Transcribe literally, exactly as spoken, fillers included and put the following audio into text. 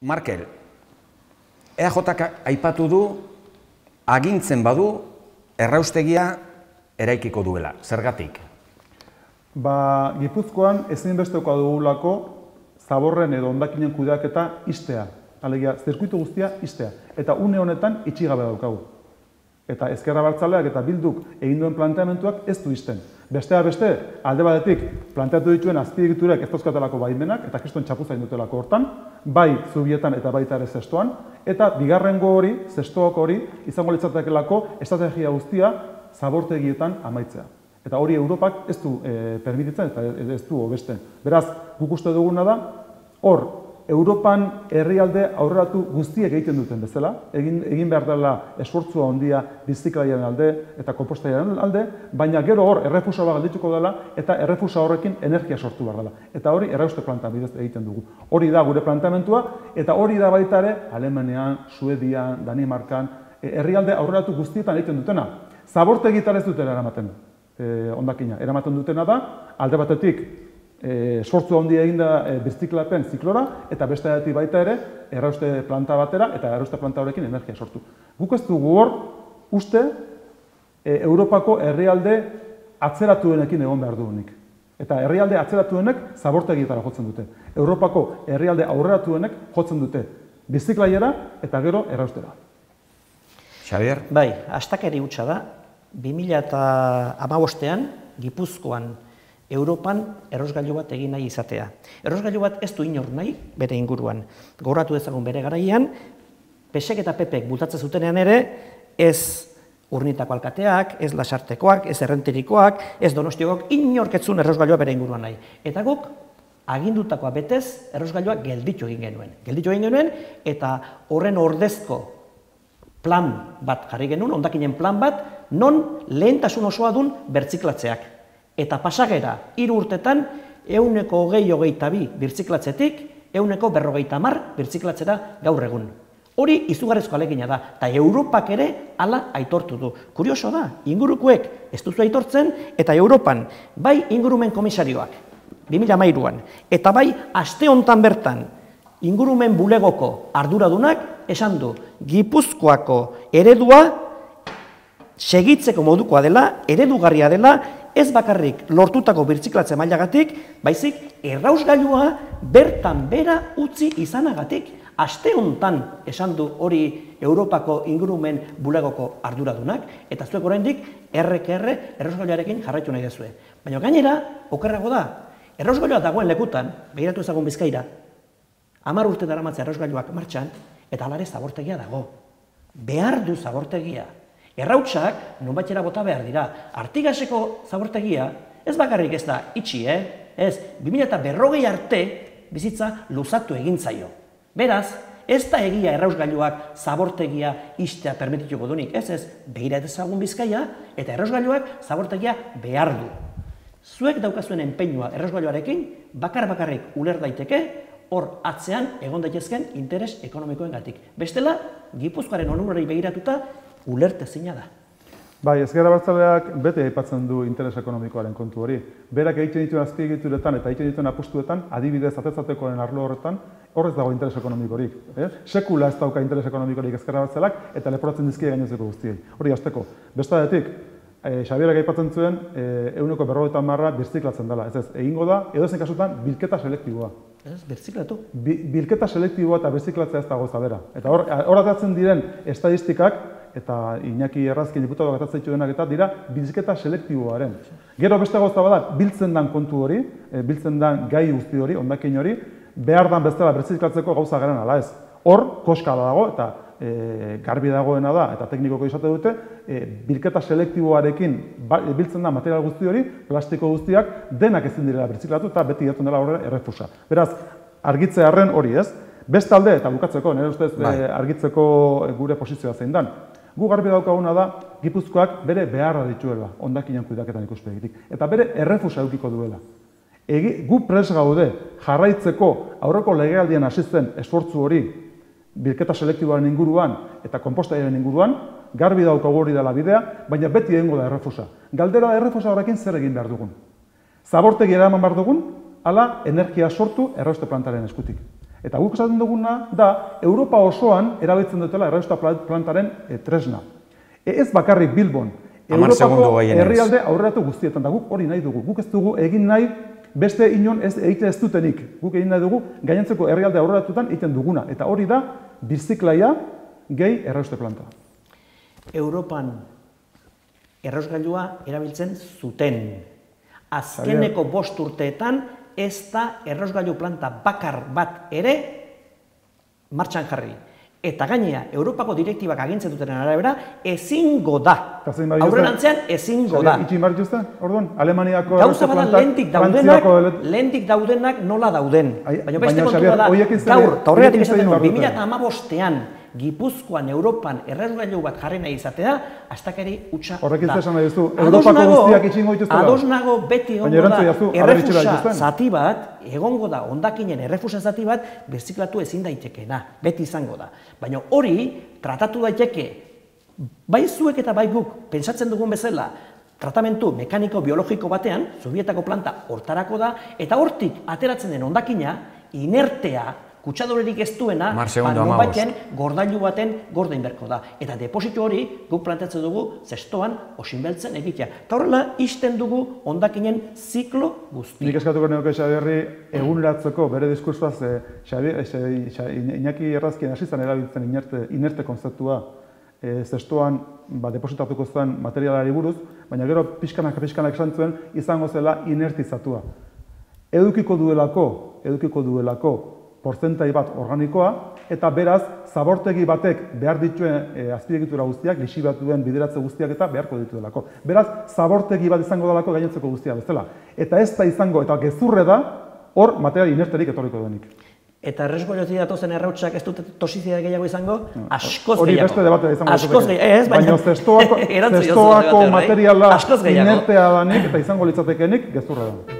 Markel, E A Jk aipatu du, agintzen badu, erraustegia eraikiko duela. Zergatik? Ba, Gipuzkoan ezinbestekoa dugulako zaborren edo hondakinen kudeaketa ixtea. Alegia, zirkuitu guztia ixtea. Eta une honetan itxigabe daukagu. Eta Ezker Abertzaleak eta Bilduk egin duen planteamentuak ez du ixten. Bestea beste, alde batetik planteatu dituen azpiegiturek ez dauzkatelako baimenak, eta kriston txapuza dutelako hortan, bai zubietan eta baita ere zestoan, eta bigarrengo hori, zestoak hori, izango litzatekelako estrategia guztia zabortegietan amaitzea. Eta hori Europak ez du e, permititzen eta ez du hobesten. Beraz, guk uste duguna da, hor, Europan herrialde aurreratu guztiek egiten duten bezala, egin, egin behar dela esfortzua handia biziklaiaren alde eta konpostaiaren alde, baina gero hor errefusa bat geldituko dela eta errefusa horrekin energia sortu behar dela. Eta hori errauste planta bidez egiten dugu. Hori da gure planteamentua eta hori da baita ere Alemanian, Suedian, Danimarkan, herrialde aurreratu guztietan egiten dutena. Zabortegitan ez dutela eramaten, eh, hondakina. Eramaten dutena da, alde batetik, esfortzu handia egin da birziklapen ziklora, eta beste datik baita ere, errauste planta batera, eta errauste planta horrekin energia sortu. Guk ez dugu hor, uste, Europako herrialde atzeratuenekin egon behar duenik. Eta herrialde atzeratuenek zabortegietara jotzen dute. Europako herrialde aurreratuenek jotzen dute birziklaiera eta gero erraustera. Xabier? Bai, astakeri hutsa da, bi mila hamabostean Gipuzkoan Europan errosgailu bat egin nahi izatea. Errosgailu bat ez du inor nahi bere inguruan. Gogoratu dezagun bere garaian, P S ek eta P P ek bultatzen zutenean ere, ez Urnitako alkateak, ez Lasartekoak, ez Errenterikoak, ez Donostiakoak, inorketzun errosgailua bere inguruan nahi. Eta guk, agindutakoa betez, errosgailua gelditu egin genuen. Gelditu egin genuen, eta horren ordezko plan bat jarri genuen, hondakinen plan bat, non lehentasun osoa dun bertziklatzeak. Eta pasagera, hiru urtetan, ehuneko hogei hogeita bi birtziklatzetik, ehuneko berrogeita hamar birtziklatzera gaur egun. Hori izugarrizko ahalegina da, eta Europak ere hala aitortu du. Kurioso da, ingurukoek ez duzu aitortzen, eta Europan, bai ingurumen komisarioak, bi mila hamairuan, eta bai aste hontan bertan, ingurumen bulegoko arduradunak esan du, Gipuzkoako eredua segitzeko modukoa dela, eredugarria dela, ez bakarrik lortutako birtziklatze mailagatik, baizik errausgailua bertan bera utzi izanagatik. Aste hontan esan du hori Europako ingurumen bulegoko arduradunak, eta zuek oraindik errek erre errausgailuarekin jarraitu nahi dezue. Baina gainera, okerrago da, errausgailua dagoen lekutan, begiratu ezagun Bizkaira, hamar urte daramatza errausgailuak martxan, eta alare zabortegia dago. Behar du zabortegia. Errautsak nonbaitera bota behar dira. Artigaseko zabortegia ez bakarrik ez da itxi, eh? Ez, bi mila berrogei arte bizitza luzatu egin zaio. Beraz, ez da egia errausgailuak zabortegia ixtea permitituko dunik. Ez ez, begira ezagun Bizkaia eta errausgailuak zabortegia behar du. Zuek daukazuen enpeinua errausgailuarekin bakar-bakarrik uler daiteke, hor atzean egon daitezken interes ekonomikoengatik. Bestela, Gipuzkoaren onurari begiratuta ulertezina da. Bai, Ezker Abertzaleak bete aipatzen du interes ekonomikoaren kontu hori. Berak egiten dituen azpiegituretan eta egiten dituen apustuetan, adibidez atez-atekoen arlo horretan, horrez dago interes ekonomikorik. Eh? Sekula ez dauka interes ekonomikorik Ezker Abertzaleak eta leporatzen dizkie gainontzeko guztiei. Hori hasteko. Bestadetik, eh, Xabierak aipatzen zuen eh, ehuneko berrogeita hamarra birziklatzen dela. Ez ez, egingo da, edozein kasutan bilketa selektiboa. Ez, birziklatu. Bi, bilketa selektiboa eta birziklatzea ez dago zabera. Eta hor, hor atatzen diren estadistikak, eta Iñaki Errazkin diputatuak atatzen denak eta dira bilketa selektiboaren. Gero beste gauza bada, biltzen dan kontu hori, e, biltzen dan gai guzti hori, hondakin hori, behar dan bezala birziklatzeko gauza garen ala ez. Hor, koska dago eta e, garbi dagoena da, eta teknikoko izate dute, e, bilketa selektiboarekin ba, e, biltzen da material guzti hori, plastiko guztiak denak ezin direla birziklatu eta beti jaten dela horre errefusa. Beraz, argitze harren hori ez. Bestalde, eta bukatzeko, nire ustez e, argitzeko gure posizioa zein dan. Gu garbi daukaguna da, Gipuzkoak bere beharra dituela, hondakinen kudeaketan ikuspegitik. Eta bere errefusa edukiko duela. Egi, gu pres gaude jarraitzeko aurreko legealdian hasi zen esfortzu hori bilketa selektiboaren inguruan eta konpostaiaren inguruan, garbi daukagu hori dela bidea, baina beti egingo da errefusa. Galdera da errefusa horrekin zer egin behar dugun. Zabortegi eraman behar dugun, ala energia sortu errauste plantaren eskutik. Eta guk esaten duguna da, Europa osoan erabiltzen dutela errausta plantaren e, tresna. E, ez bakarrik Bilbon, Europako herrialde aurreratu guztietan, da guk hori nahi dugu. Guk ez dugu egin nahi beste inon ez egite ez dutenik. Guk egin nahi dugu gainentzeko herrialde aurreratutan egiten duguna. Eta hori da, birziklaia gehi errauste planta. Europan errausgailua erabiltzen zuten. Azkeneko bost urteetan ez da errausgailu planta bakar bat ere martxan jarri. Eta gainea, Europako direktibak agintzen duten arabera, ezingo da. Aurrerantzean ezingo da. Itxin bar dituzte, orduan? Alemaniako gauza bada lehendik daudenak, lehendik daudenak nola dauden. Baina beste kontua da, gaur, eta horregatik esaten du, bi mila hamabostean Gipuzkoan, Europan, errausgailu bat jarri nahi izatea, astakeri hutsa da. Horrekin zesan nahi duzu, Europako guztiak itxingo dituztela? Ados nago beti egongo da, errefusa zati bat, egongo da, hondakinen errefusa zati bat, birziklatu ezin daitekeena, beti izango da. Baina hori, tratatu daiteke, bai zuek eta bai guk, pentsatzen dugun bezala, tratamentu mekaniko-biologiko batean, Zubietako planta hortarako da, eta hortik ateratzen den hondakina, inertea, kutsadorerik ez duena, nonbaiten gordailu baten gordain berko da. Eta depositu hori guk plantatzen dugu zestoan osinbeltzen egitea. Eta horrela isten dugu hondakinen ziklo guzti. Nik eskatuko neoke Xabierri eguneratzeko bere diskursoaz Iñaki Errazkien hasizan erabiltzen inerte konzeptua zestoan depositatuko zuen materialari buruz, baina gero pixkanak pixkanak esan zuen izango zela inertizatua. Edukiko duelako, edukiko duelako porzentai bat organikoa, eta beraz, zabortegi batek behar dituen e, azpiegitura guztiak, lixi bat duen bideratze guztiak eta beharko dituelako. Beraz, zabortegi bat izango dalako gainentzeko guztia bezala. Eta ez da izango, eta gezurre da, hor material inerterik etorriko denik. Eta erresgoiotik datozen errautsak ez dute tosizidade gehiago izango? Askoz hori gehiago. Hori beste debatea izango Askoz gehiago, ez, baina... Baina zestoako materiala inertea danik eta izango litzatekenik gezurra da.